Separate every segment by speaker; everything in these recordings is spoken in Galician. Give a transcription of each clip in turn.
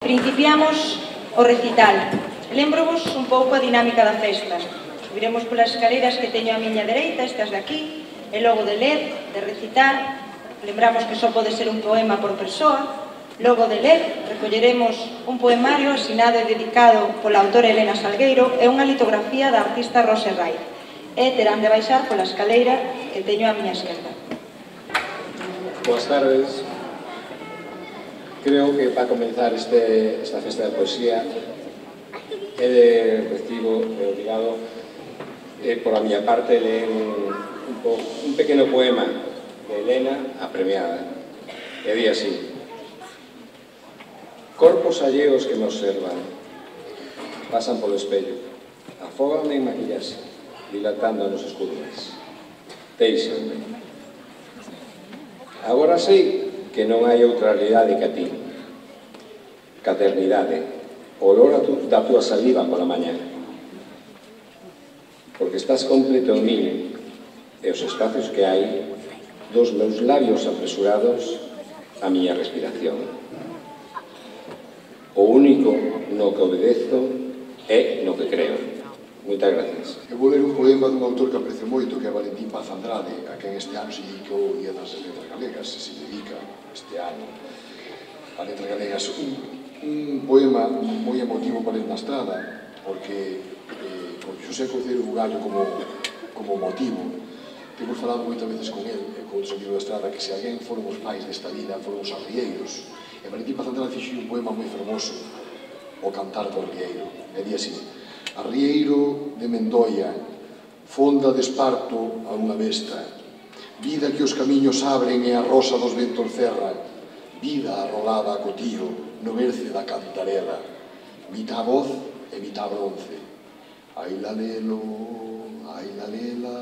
Speaker 1: Principiamos o recital. Lembro-vos un pouco a dinámica da festa. Subiremos polas escaleras que teño á miña dereita, estas de aquí, e logo de ler, de recitar. Lembramos que só pode ser un poema por persoa. Logo de ler, recolleremos un poemario asinado e dedicado pola autora Elena Salgueiro e unha litografía da artista Rose Rai. E terán de baixar pola escaleira que teño á miña esquerda.
Speaker 2: Boas tardes. Creo que para comenzar esta festa de poesía é de recibo e obrigado por a miña parte ler un pequeno poema de Elena, a premiada. E di así: corpos alleos que me observan, pasan polo espello, afóganme en maquillarse, dilatando nos escuros. Deixanme. Agora sei que non hai outra realidade que a ti. Caternidade, olor da túa saliva pola mañá. Porque estás completo en min e os espacios que hai dos meus labios apresurados a miña respiración. O único no que obedezo é no que creo. Moitas gracias.
Speaker 3: Eu vou ler un poema dun autor que aprecio moito, que é Valentín Paz Andrade, a quen este ano se dedicou o Día das Letras Galegas, se dedica este ano a Letras Galegas. Un poema moi emotivo para ler na estrada, porque con Xosé Couceiro Bugallo como motivo, temos falado moitas veces con el, con outro sentido da estrada, que se alguén foron os pais desta vida, foron os arrieiros. E Valentín Paz Andrade fixo un poema moi fermoso, O cantar do arrieiro. E di así: arrieiro de Mendoia, fonda de esparto a unha besta, vida que os camiños abren e a rosa dos ventos cerra, vida arrolada a cotío no berce da cantarela, mitad voz e mitad bronce. Ai lalelo, ai lalela,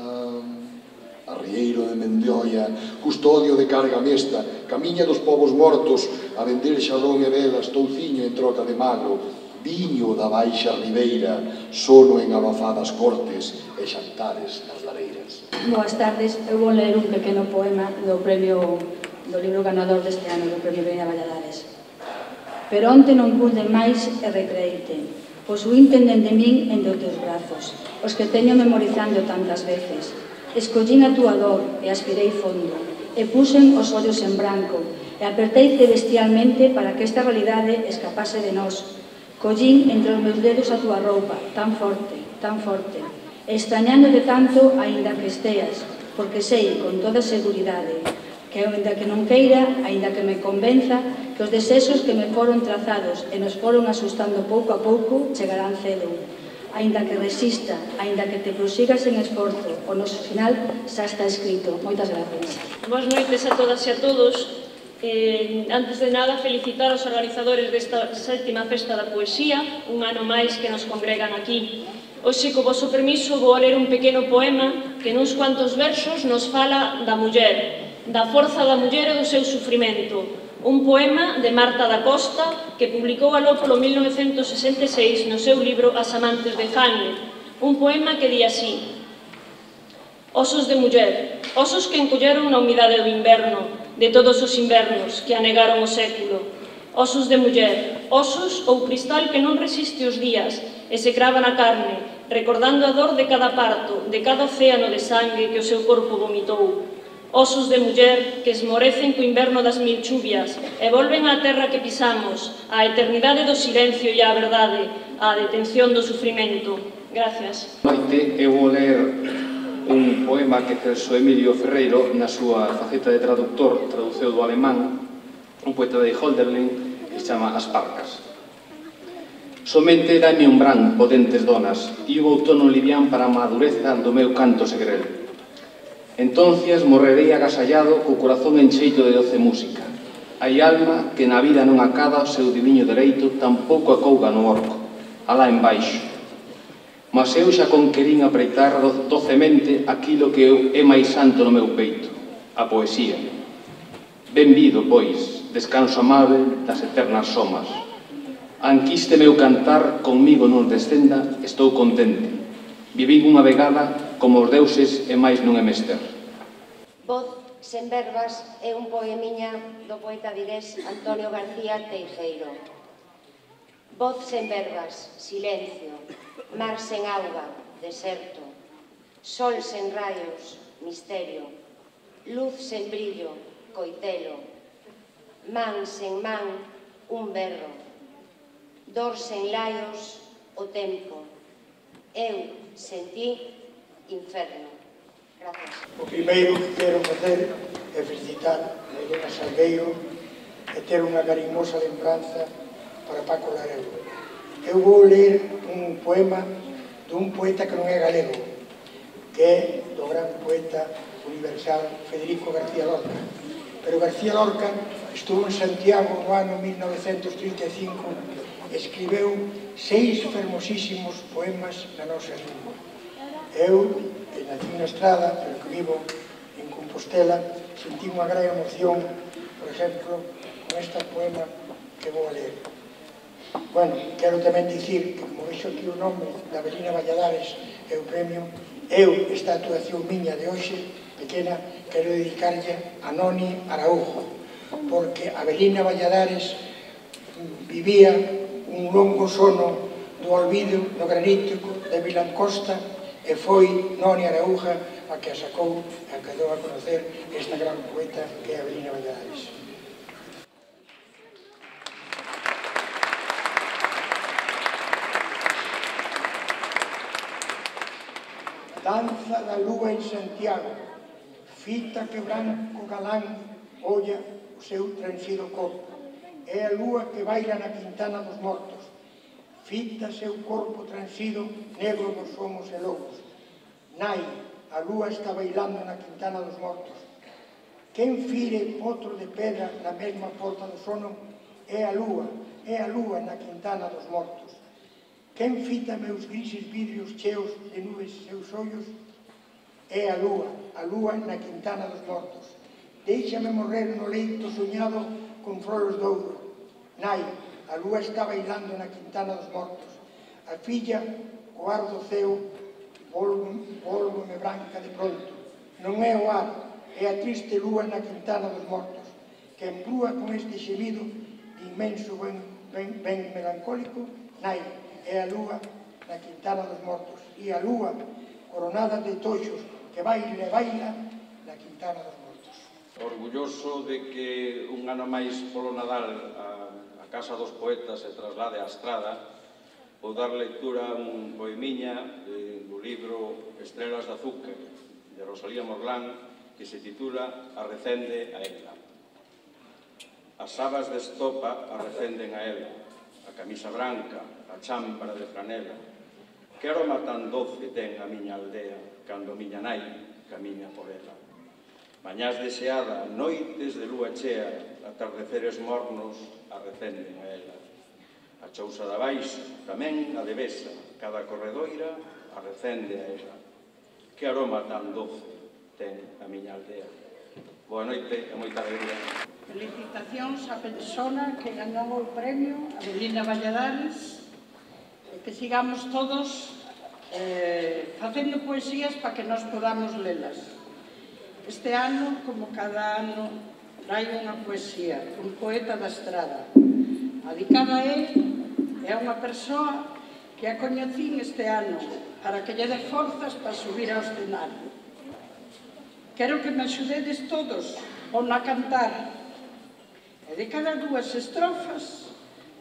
Speaker 3: arrieiro de Mendoia, custodio de carga mesta, camiña dos povos mortos, a vender xadón e velas, touciño en troca de magro, viño da baixa ribeira, sono en abafadas cortes e xantares nas lareiras.
Speaker 4: Boas tardes, eu vou ler un pequeno poema do libro ganador deste ano, do Premio Veña Valladares. Pero onte non pude máis e recreite, pois huín dende min en dos teus brazos, os que teño memorizando tantas veces. Escollín a túa dor e aspirei fondo, e puxen os ollos en branco, e apertei celestialmente para que esta realidade escapase de nós. Collín entre os meus dedos a túa roupa, tan forte, e extrañándote tanto, aínda que esteas, porque sei, con toda seguridade, que aínda que non queira, aínda que me convenza, que os desexos que me foron trazados e nos foron asustando pouco a pouco, chegarán cedo. Aínda que resista, aínda que te prosigas en esforzo, o noso final xa está escrito. Moitas gracias.
Speaker 5: Boas noites a todas e a todos. Antes de nada, felicitar os organizadores desta 7ª Festa da Poesía, un ano máis que nos congregan aquí. Hoxe, co vosso permiso, vou ler un pequeno poema que nuns cuantos versos nos fala da muller, da forza da muller e do seu sufrimento. Un poema de Marta da Costa que publicou aló polo 1966 no seu libro As amantes de Jane. Un poema que di así: osos de muller, osos que encolleron na humidade do inverno, de todos os invernos que anegaron o século. Osos de muller, osos ou cristal que non resiste os días e se crava na carne, recordando a dor de cada parto, de cada océano de sangue que o seu corpo vomitou. Osos de muller que esmorecen co inverno das mil chuvias e volven á terra que pisamos, á eternidade do silencio e á verdade, á detención do sufrimento. Gracias.
Speaker 6: Noite, eu vou ler un poema que Celso Emilio Ferreiro, na súa faceta de traductor, traduceu do alemán, un poeta de Hölderlin, que se chama As Parcas. Somente dame un bran, potentes donas, e un outono livián para a madureza do meu canto segrel. Entonces morrerei agasallado co corazón encheito de doce música. Hai alma que na vida non acaba o seu diviño dereito, tampouco acouga no orco, alá embaixo. Mas eu xa conquerín apreitar docemente aquilo que é máis santo no meu peito, a poesía. Benvido, pois, descanso amável das eternas somas. Anquiste meu cantar, conmigo non descenda, estou contente. Vivín unha vegada como os deuses e máis non é mester.
Speaker 7: Voz sen verbas é un poemiña do poeta vigués Antonio García Teijeiro. Voz sen verbas, silencio. Mar sen auga, deserto. Sol sen raios, misterio. Luz sen brillo, coitelo. Man sen man, un berro. Dor sen laios, o tempo. Eu, sen ti, inferno. Gracias.
Speaker 8: O primeiro que quero facer é felicitar a Elena Salgueiro e ter unha carimosa lembranza para Paco Lareu. Eu vou ler un poema dun poeta que non é galego, que é do gran poeta universal Federico García Lorca. Pero García Lorca estuvo en Santiago no ano 1935 e escribeu 6 fermosísimos poemas na nosa lingua. Eu, que nací na Estrada, pero que vivo en Compostela, sentí unha gran emoción, por exemplo, con este poema que vou a ler. Bueno, quero tamén dicir que, como vexo aquí o nome da Avelina Valladares e o premio, eu, esta actuación miña de hoxe, pequena, quero dedicarlle a Noni Araújo, porque Avelina Valladares vivía un longo sono do olvido no granítico de Vilancosta e foi Noni Araújo a que a sacou e a que deu a conocer esta gran poeta que é Avelina Valladares. Danza da lúa en Santiago, fita que branco galán olla o seu transido corpo. É a lúa que baila na Quintana dos Mortos, fita seu corpo transido negro dos somos e lobos. Nai, a lúa está bailando na Quintana dos Mortos. Quen fire potro de pedra na mesma porta do sono é a lúa na Quintana dos Mortos. Quen fita meus grises vidrios cheos de nubes seus ollos é a lúa na Quintana dos Mortos. Déixame morrer no leito soñado con frolos de ouro. Nai, a lúa está bailando na Quintana dos Mortos. A filla, co ar do ceo, volvo-me branca de pronto. Non é o ar, é a triste lúa na Quintana dos Mortos, que embrúa con este xemido de inmenso ben melancólico. Nai, é a lúa na Quintana dos Mortos, e a lúa coronada de toxos que baila e baila na Quintana dos Mortos.
Speaker 9: Orgulloso de que un ano máis polo Nadal a Casa dos Poetas se traslade á Estrada, vou dar lectura a un poemiña do libro Estrelas de Azúcar, de Rosalía Morlán, que se titula Arrecende a ela. As sabas de estopa arrecenden a ela, a camisa branca, a chámpara de franela. Que aroma tan doce ten a miña aldea cando miña nai camiña por ela. Mañás deseada, noites de lúa chea, atardeceres mornos arrecenden a ela. A chousa da baixo, tamén a de Besa, cada corredoira arrecende a ela. Que aroma tan doce ten a miña aldea. Boa noite e moita alegría.
Speaker 10: Felicitacións á persona que ganou o premio, Avelina Valladares, e que sigamos todos facendo poesías para que nos podamos lelas. Este ano, como cada ano, traio unha poesía, un poeta da Estrada. Adicada a él, é unha persoa que a coñecín este ano, para que lle dé forzas para subir ao escenario. Quero que me axudedes todos pon a cantar, e de cada 2 estrofas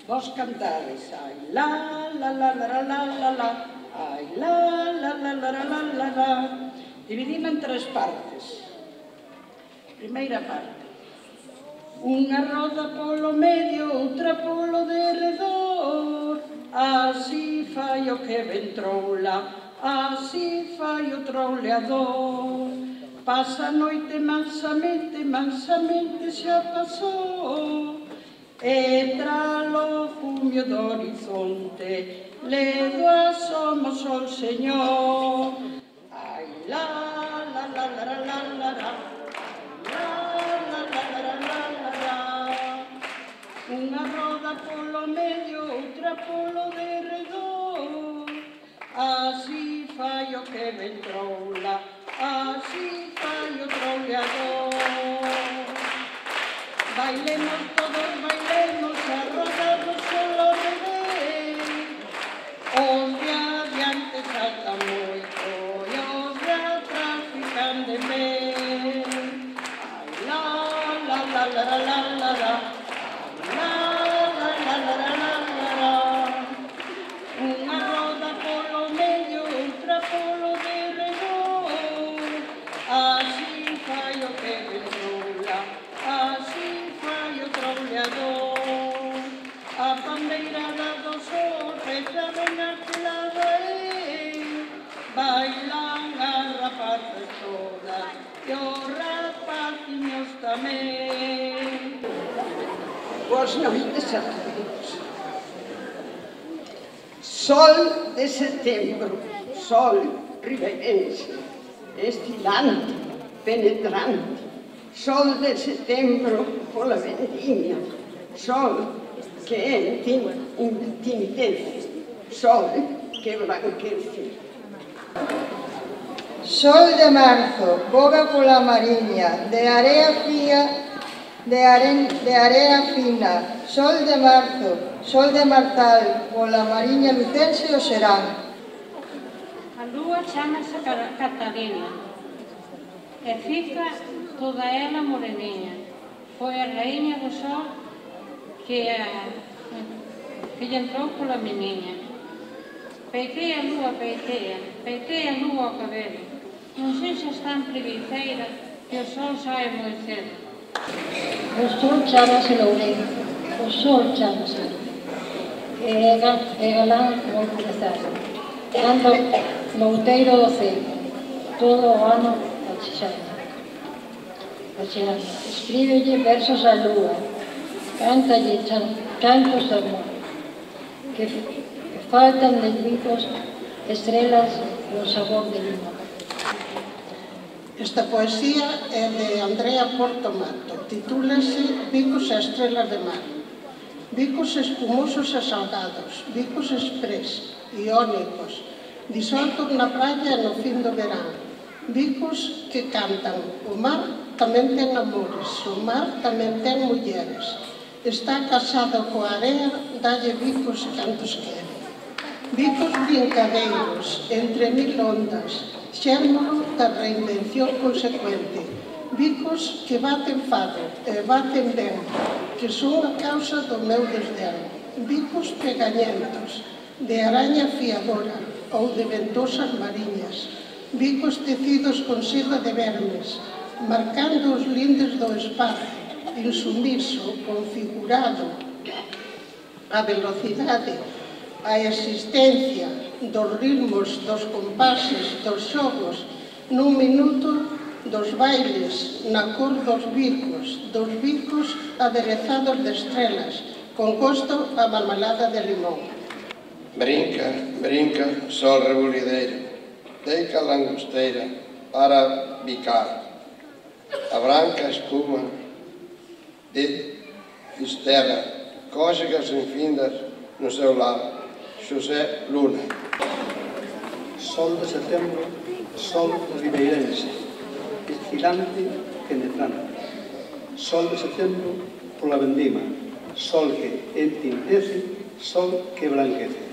Speaker 10: vos cantades ai la la la la la la la, ai la la la la la la la. Dividime en 3 partes. Primeira parte. Unha roda polo medio, outra polo derredor, así fai o que ventroula, así fai o trauleador. Pasa a noite mansamente, mansamente xa pasou, e tralo fumio do horizonte, ledo asoma o sol señor. Ai la la la la la la la la, la la la la la la la. Unha roda polo medio, outra polo derredor, así fai o que ventroula, así fai o trauleador. Bailemos todos, bailemos, a roda do sol ao revés, volver. La la la la la la la la. La la la la la la la. Unha roda polo medio, outra polo derredor. Así fai o que ventroula, así fai o trauleador. A pandeirada do sol reza ben arculada bailan as rapaces todas e os rapaciños tamén. Boas noites a todos. Sol de setembro, sol ribeirense, estilante, penetrante. Sol de setembro pola vendimia, sol que entintece, sol que branquece.
Speaker 11: Sol de marzo, boga pola mariña, de area fría, de area fina. Sol de marzo, sol de martal, pola mariña lucense o serán.
Speaker 12: A lúa chamase Catalina, e fica toda ela moreniña. Foi a raíña do sol que lle entrou pola meniña. Peitei a lúa, peitei a lúa ao cabelo. Non sei se está en preguiceira, que o sol sae moi cedo.
Speaker 13: O sol chamase Loureiro, o sol chamase. É galán moi crezado. Anda nouteiro do ceo, todo o ano achexando. Escríbelle versos á lúa, cántalle cantos de amor, que faltan de bicos, estrelas e o sabor de limón.
Speaker 10: Esta poesía é de Andrea Portomato, titúlase Bicos e estrelas de mar. Bicos espumosos e salgados, bicos exprés, iónicos, disoltos na praia e no fin do verán. Bicos que cantan, o mar tamén ten amores, o mar tamén ten mulleres. Está casado coa area, dalle bicos cantos quere. Bicos brincadeiros, entre mil ondas, xérmolo da reinvención consecuente. Bicos que baten fado e baten ben, que son a causa do meu desdén. Bicos pegañentos, de araña fiadora ou de ventosas mariñas. Bicos tecidos con seda de vermes, marcando os lindes do espazo, insumiso, configurado, a velocidade, a existencia dos ritmos, dos compases, dos xogos, nun minuto dos bailes, na cor dos bicos aderezados de estrelas, con gosto a marmelada de limón.
Speaker 14: Brinca, brinca, sol rebulideiro, deica a langosteira para bicar. A branca espuma de fisterra, cóxegas infindas no seu lado. Xosé Luna.
Speaker 15: Sol de setembro, sol ribeirense, estilante, penetrante. Sol de setembro pola vendima, sol que entintece, sol que branquece.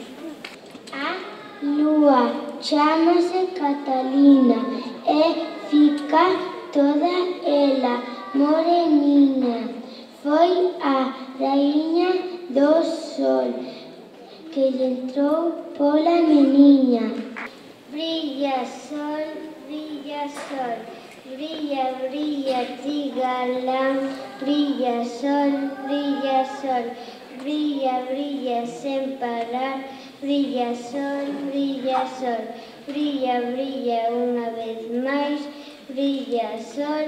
Speaker 16: A lúa chámase Catalina e fica toda ela moreniña. Foi a raíña do sol que lle entrou pola meniña. Brilla sol, brilla sol, brilla, brilla ti galán. Brilla sol, brilla sol, brilla, brilla sen parar. Brilla sol, brilla sol, brilla, brilla unha vez máis. Brilla sol,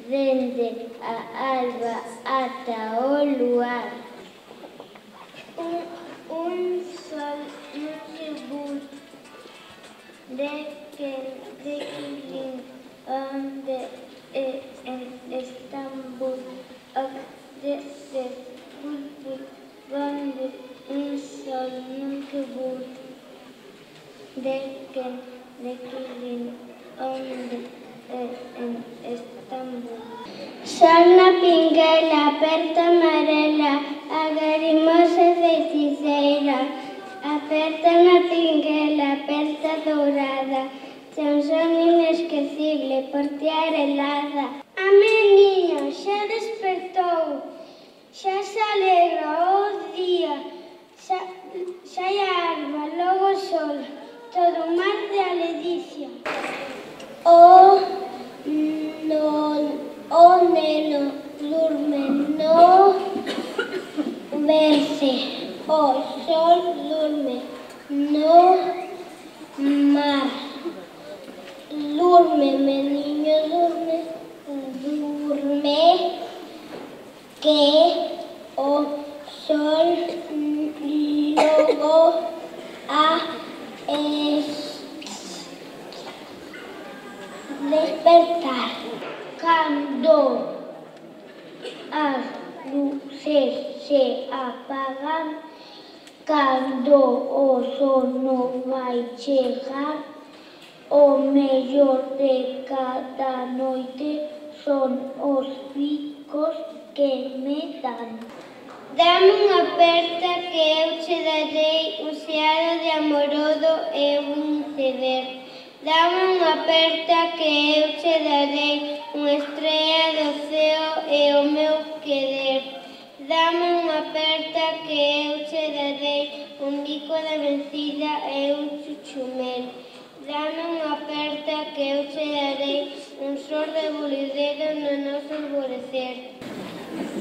Speaker 16: dende a alba ata o luar. Un sol nunca de que onde en Estambul de donde un sol nunca de que onde en Estambul. Sol na pinguela, aperta amarela, agarimosa feiticeira. Aperta na pinguela, aperta dourada, Ten son inesquecible por ti arelada. A meniña xa despertou, xa se alegra o día, xa a alba, logo o sol, todo un mar de aledicia. O neno durme no berce, o sol durme no mar. Durme, meniño, durme, que o sol logo a despertar. Cando as luces se apagan, cando o sono vai chegar, o mellor de cada noite son os bicos que me dan. Dame unha aperta que eu che darei un xeado de amorodo e un ceder. Dame unha aperta que eu che darei unha estrella do ceo e o meu querer. Dame unha aperta que eu che darei un bico de vencida e un chuchumel. Dame unha aperta que eu che darei un sor de bolideiro no noso alvorecer.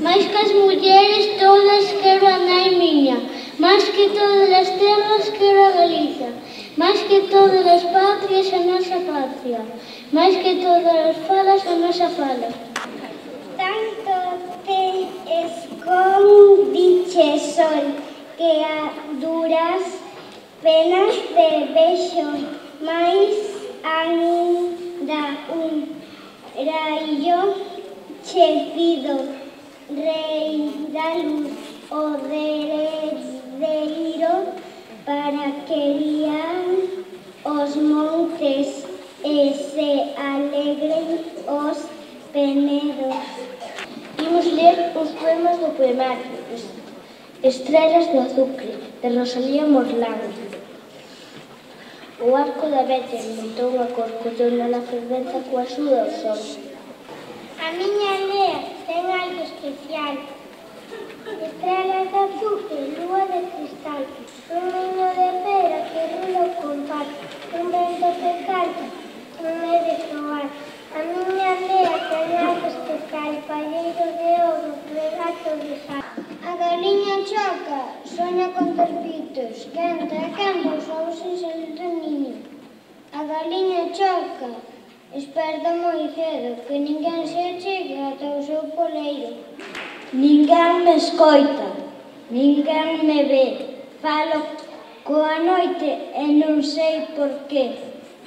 Speaker 16: Mais que as mulleres todas quero a nai miña, máis que todas as terras quero a Galiza, máis que todas as patrias a nosa patria, máis que todas as falas a nosa fala. Tanto te escondiche, sol, que a duras penas de vexo, mais ainda un raio che pido, rei da luz, o derredeiro, para que rian os montes e se alegren os penedos. Imos ler uns poemas do poemario Estrelas de azucre, de Rosalía Morlán. O arco da vete montou unha corcollona na fervenza coa axuda do sol. A miña aldea ten algo especial. Estrelas de azucre, lúa de cristal, un niño de pera que rula o compás, un vento que canta, un de soar. A miña aldea ten algo especial, palleiro de ouro, regato de sal. A galiña choca, soña con ter pitos, canta e canta os ovos sin salir do niño. A galiña choca, esperta moi cedo, que ninguén se achega ata o seu poleiro. Ninguén me escoita, ninguén me ve, falo coa noite e non sei por qué.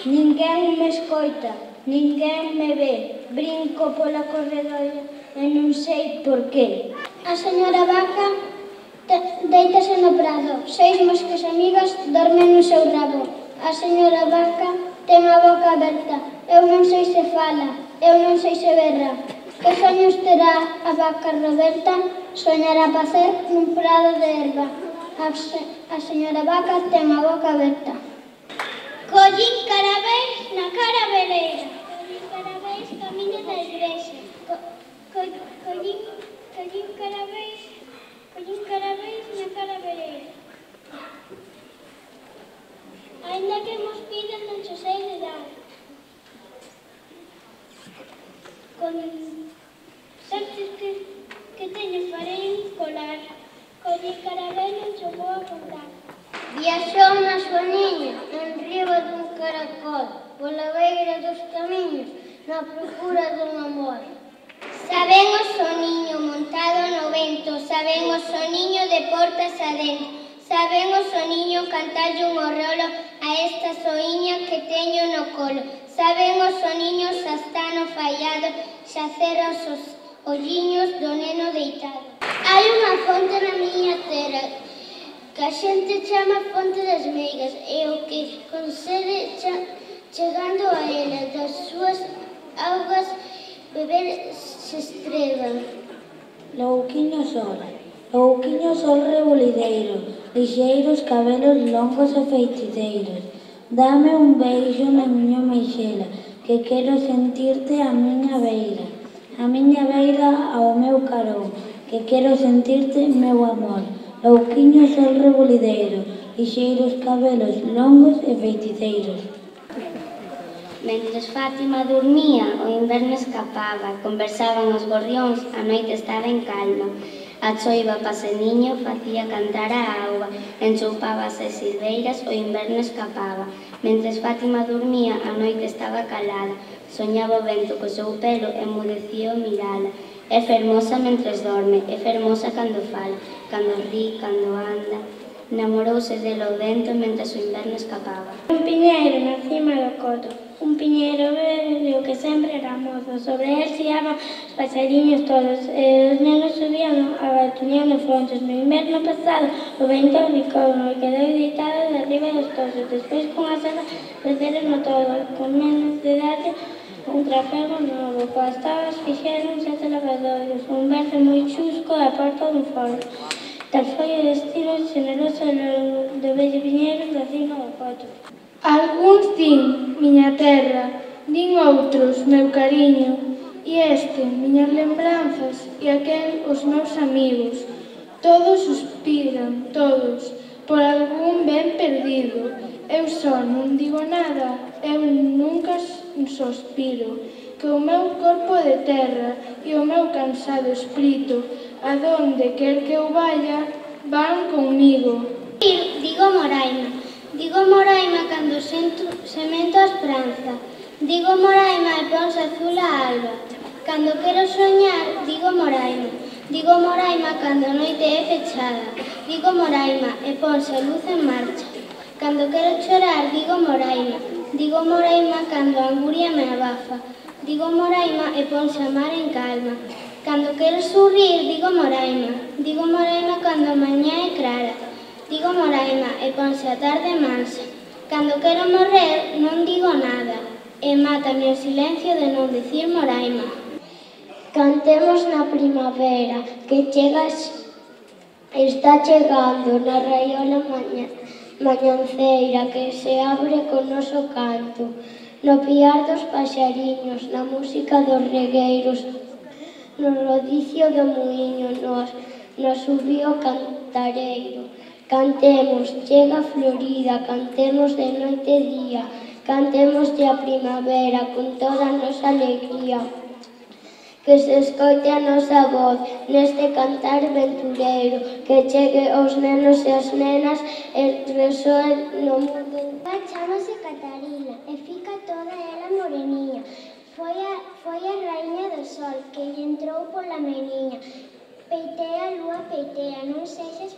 Speaker 16: Ninguén me escoita, ninguén me ve, brinco pola corredoira e non sei por qué. A señora vaca deítase no prado, 6 moscas amigas dormen no seu rabo. A señora vaca ten a boca aberta, eu non sei se fala, eu non sei se berra. Que soños terá a vaca Roberta? Soñará pacer nun prado de erva. A señora vaca ten a boca aberta. Collín carabéis na carabeleira, collín carabéis camiño da igrexa, collín carabéis na carabeleira. Ainda que mos piden non se sei de dar. Con certos que teño farei un colar, collín carabéis non se vou a contar. Viaxou na súa niña, en riba dun caracol, pola beira dos camiños, na procura dun amor. Saben o soniño montado no vento, saben o soniño de portas adentro, saben o soniño cantarlle un rolo a esta soiña que teño no colo, saben o soniño xa está no fallado, xa cerra os olliños do neno deitado. Hai unha fonte na miña terra, que a xente chama Fonte das Meigas, e o que concede chegando a ela das súas augas beber se estreba.
Speaker 17: Louquiño sol rebolideiro, lixeiros cabelos longos e feitideiros, Dame un beixo na miña meixela, que quero sentirte á miña beira ao meu carón, que quero sentirte meu amor. Louquiño sol rebolideiro, lixeiros cabelos longos e feiticeiros.
Speaker 16: Mentres Fátima dormía, o inverno escapaba, conversaban os gorrións, a noite estaba en calma. A choiva paseniño facía cantar a auga, enchoupábase as silveiras, o inverno escapaba. Mentres Fátima dormía, a noite estaba calada, soñaba o vento co seu pelo, emudecía o mirala. É fermosa mentres dorme, é fermosa cando fala, cando ri, cando anda. Namorouse delo vento mentres o inverno escapaba.
Speaker 18: Un piñeiro na cima do coto, un piñeiro verde o que sempre era mozo. Sobre él xiaban os paxariños todos, e os nenos subían abatuñando frontes. No inverno pasado o vento bicouno e quedou deitado de arriba dos tosos. Despois cunha sala creceron todo, con menos de darlle un trapego novo, coas tabas fixeron 7 lavadoiros, un verde moi chusco e a porta dun forno. Tal foi o destino xeneroso do vello piñeiro da cima do coto.
Speaker 19: Algúns din miña terra, din outros meu cariño, e este miñas lembranzas e aquel os meus amigos. Todos suspiran, todos, por algún ben perdido. Eu só non digo nada, eu nunca sospiro, que o meu corpo de terra e o meu cansado espírito, adonde quer que eu vaya, van conmigo.
Speaker 16: Digo Moraima cando semento a esperanza. Digo Moraima e ponse azul a alba. Cando quero soñar, digo Moraima. Digo Moraima cando a noite é fechada. Digo Moraima e ponse a luz en marcha. Cando quero chorar, digo Moraima. Digo Moraima cando a anguria me abafa. Digo Moraima e ponse a mar en calma. Cando quero sorrir, digo Moraima. Digo Moraima cando a mañá é clara. Digo Moraima e ponse a tarde mansa. Cando quero morrer, non digo nada. E mátame o silencio de non dicir Moraima.
Speaker 18: Cantemos na primavera, que está chegando na raiola mañanceira que se abre co noso canto, no piar dos paxariños, na música dos regueiros, no rodicio do muiño, no subío cantareiro. Cantemos, chega florida, cantemos de noite e día, cantemos de a primavera con toda a nosa alegría. Que se escoite a nosa voz neste cantar ventureiro, que chegue aos nenos e as nenas e resoe no mundo.
Speaker 16: Chámase Catarina e fica toda ela moreniña. Foi a raíña do sol que lle entrou pola meniña. Peitea a lúa, peitea, non sexas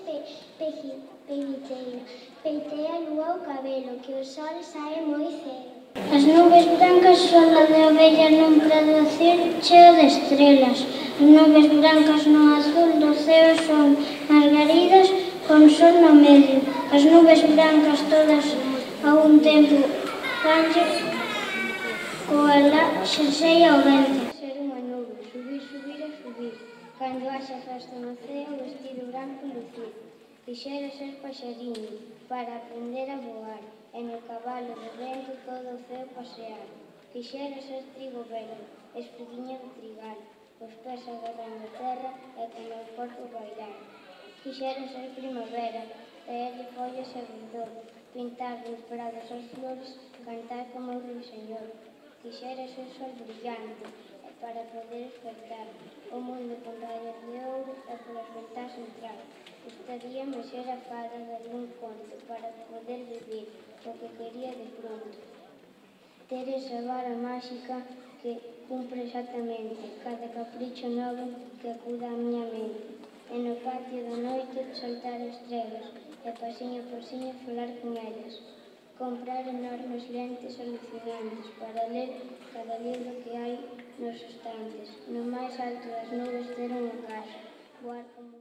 Speaker 16: peguiteira. Peitea a lúa o cabelo, que o sol sae moi cedo.
Speaker 18: As nubes brancas sonan de ovellas nun prado cheo de estrelas. As nubes brancas no azul do ceo son margaridas con sol no medio. As nubes brancas todas a un tempo vanlle coa la xersei ao vento.
Speaker 16: Ser unha nube, subir, subir e subir. Cando haxa festa no ceo, vestido branco lucir. Quixera ser paxariño para aprender a voar, e no cabalo do vento todo o ceo pasear. Quixera ser trigo verde, espiguinha de trigal, os pés agarrando a terra e con o corpo bailar. Quixera ser primavera, traerlle follas e verdor, pintar nos prados as flores, cantar como o ruiseñor. Quixera ser sol brillante, para poder despertar o mundo con rayos de ouro e polas ventás entrar. Gustaríame ser a fada de algún conto para poder vivir o que quería de pronto. Ter esa vara máxica que cumpre exactamente cada capricho novo que acuda á miña mente. E no patio da noite soltar estrelas e pasiño por pasiño falar con elas. Comprar enormes lentes alucinantes para ler cada libro que hai nos estantes. No máis alto das nubes ter unha casa, voar como